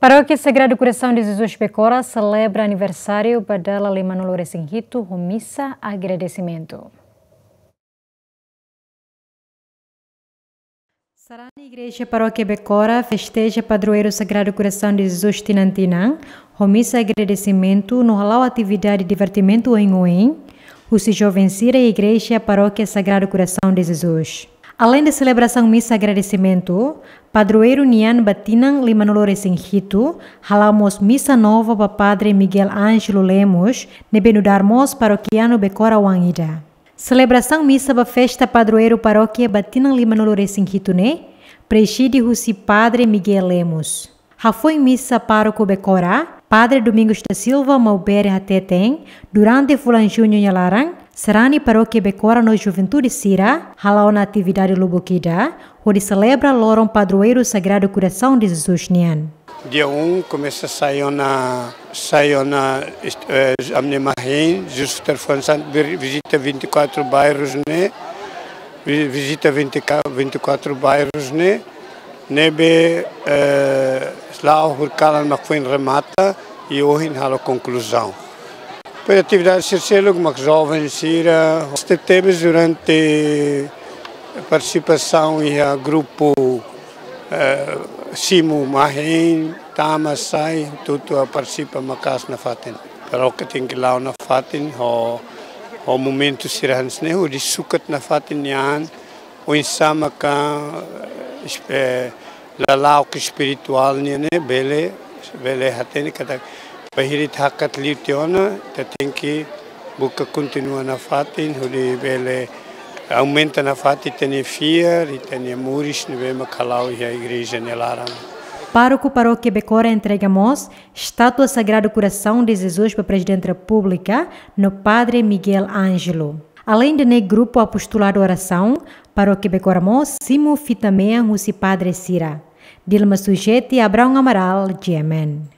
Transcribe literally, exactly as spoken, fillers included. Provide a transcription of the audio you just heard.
Parókia Sagrado Coração de Jesus Becora selebra aniversáriu ba dala lima-nulu resin hitu ho misa agradesimentu. Sarani Igreja Parókia Becora festeja padroeiru Sagrado Coração de Jesus tinan-tinan ho misa agradesimentu no hala'o atividade divertimentu oioin husi joven sira iha Igreja Parókia Sagrado Coração de Jesus. Além de selebrasaun misa agradesimentu, padroeiru nian ba tinan lima-nulu resin hitu hala'o mós misa nova ba Padre Miguel Ângelo Lemos, ne'ebé nu'udar mós parokianu Becora oan ida. Selebrasaun misa ba festa padroeiru parókia ba tinan lima-nulu resin hitu ne'e prezide husi Padre Miguel Lemos. Hafoin misa, pároku Becora, Padre Domingos da Silva Maubere hateten, durante fulan Juñu nia laran, sarani parókia Becora no juventude sira hala'o ona atividade lubuk ida hodi selebra loron padroeiru Sagrado Coração de Jesus nian. Dia um komesa sai ona, sai ona, eh, ami-nia mahein, Jesus Terfuan Santu, vir-, vizita vinte e quatro bairros ne'e, vi-, vizita vinte, vinte e quatro bairros ne'e, ne'ebé, eh, la'o horikalan mak foin remata, i ohin halo konkluzaun. Depois atividade sira seluk mak joven sira, tebes durante partisipasaun iha grupu, eh, simu mahein, tama sai, tutu a partisipa maka'as nafatin. Parókia tenke la'o nafatin, ho, ho momentu sira hanesan ne'e, hodi sukat nafatin nian, oinsá maka, eh, lala'ok espirituál nian ne'e bele, bele hatene katak bainhira ita hakat liu tiha ona, ita tenke buka kontinua nafatin, hodi bele aumenta nafatin ita-nia fiar, ita-nia moris ne'ebé mak hala'o iha igreja nia laran. Pároku Parókia Becora entrega mós estátua Sagrado Coração de Jesus ba Prezidente Repúblika no Padre Miguel Ângelo. Além de ne'e, grupu Apostolado Orasaun, Parókia Becora mós simu fita-mean husi padre sira. Dilma Sujeti, Abraão Amaral, G M N.